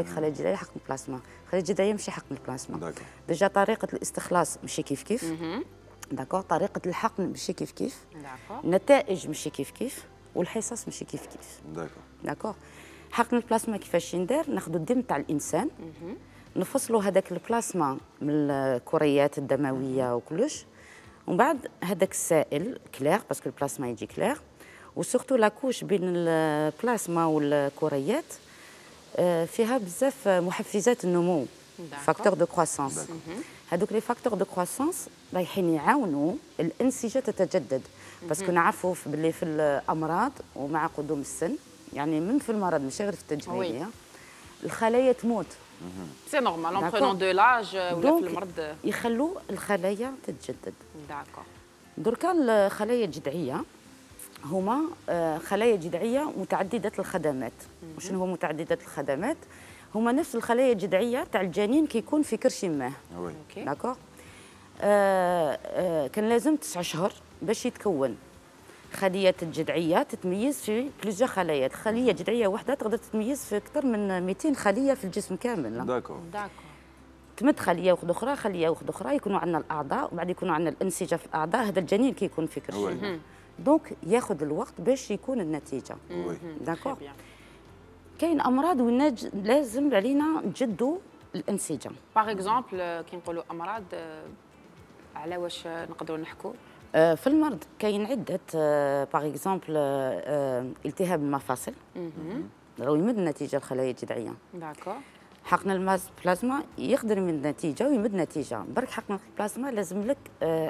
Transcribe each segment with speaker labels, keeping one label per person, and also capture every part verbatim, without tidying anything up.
Speaker 1: الخلايا الجذعيه حقن البلازما، الخلايا الجذعيه ماشي حقن البلازما. ديجا طريقه الاستخلاص ماشي كيف كيف. داكور، طريقه الحقن ماشي كيف كيف. داكور، النتائج ماشي كيف كيف، والحصص ماشي كيف كيف. داكور داكور. حقن البلازما كيفاش يندار؟ ناخذ الدم تاع الانسان، نفصلوا هذاك البلازما من الكريات الدمويه وكلش، ومن بعد هذاك السائل كلير باسكو البلازما يجي كلير، وسورتو لاكوش بين البلازما والكريات فيها بزاف محفزات النمو، فاكتور دو كرواسونس. هذوك لي فاكتور دو كرواسونس رايحين يعاونوا الانسجه تتجدد، باسكو نعرفوا باللي في الامراض ومع قدوم السن، يعني من في المرض ماشي غير في التجميليه، الخلايا تموت.
Speaker 2: سي نورمال اون برونون دو لاج ولا في المرض
Speaker 1: يخلوا الخلايا تتجدد.
Speaker 2: داكور.
Speaker 1: دركا الخلايا الجذعيه هما خلايا جذعيه متعدده الخدمات. وشنو هو متعدده الخدمات؟ هما نفس الخلايا الجذعيه تاع الجنين كيكون في كرش ماه. داكور. آه آه كان لازم تسع شهور باش يتكون. خليه الجذعيه تتميز في بليزيور خلايا، خليه جذعيه واحده تقدر تتميز في اكثر من مئتين خليه في الجسم كامل.
Speaker 3: داكور
Speaker 2: داكور.
Speaker 1: تمد خليه واحده اخرى، خليه واحده اخرى، يكونوا عندنا الاعضاء، وبعد يكونوا عندنا الانسجه في الاعضاء، هذا الجنين كيكون في كرش ماه. دونك ياخذ الوقت باش يكون النتيجه. داكور. كاين امراض وين لازم علينا نجدوا الانسجه.
Speaker 2: باغ اكزومبل كي نقولوا امراض على واش نقدروا نحكوا؟
Speaker 1: في المرض كاين عده، باغ اكزومبل التهاب المفاصل راهو يمد النتيجه الخلايا الجذعيه.
Speaker 2: داكور.
Speaker 1: حقن البلازما يقدر يمد نتيجه ويمد نتيجه، برك حقن البلازما لازم لك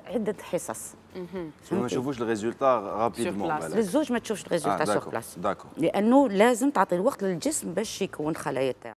Speaker 1: عده حصص.
Speaker 3: ما نشوفوش الريزولتا رابيدمون.
Speaker 1: للزوج ما تشوفش الريزولتا سور بلاس.
Speaker 3: داكور.
Speaker 1: لانه لازم تعطي الوقت للجسم باش يكون خلايا تاعو.